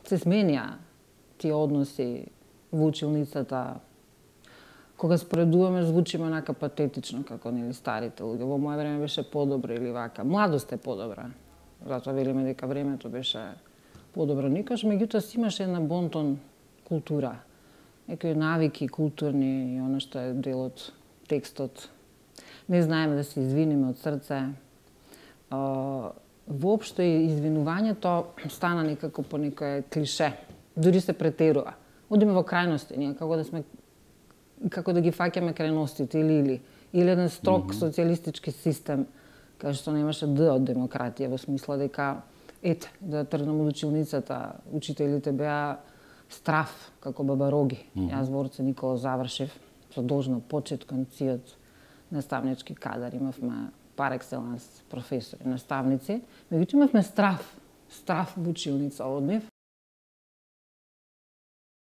се сменија тие односи во училницата. Кога споредуваме, звучиме онака патетично, како нели старите луѓе. Во моје време беше подобро или вака. Младост е подобра. Затоа велиме дека времето беше подобро. Никош, меѓутоа си имаше една бонтон култура. Некои навики културни и оно што е дел од текстот. Не знаеме да се извиниме од срце. Воопшто и извинувањето стана некако по некое клише. Дури се претерува. Одиме во крајности, ние како да ги фаќаме крајностите или еден строг социјалистички систем кај што немаше д од демократија, во смисла дека да тргнам од училницата, учителите беа страф како баба Роги. Јас во Орце Никола завршив со должна почит кон циот наставнички кадар, имавме пар екселанс професори, наставници, меѓутоа имавме страф во училница од нив.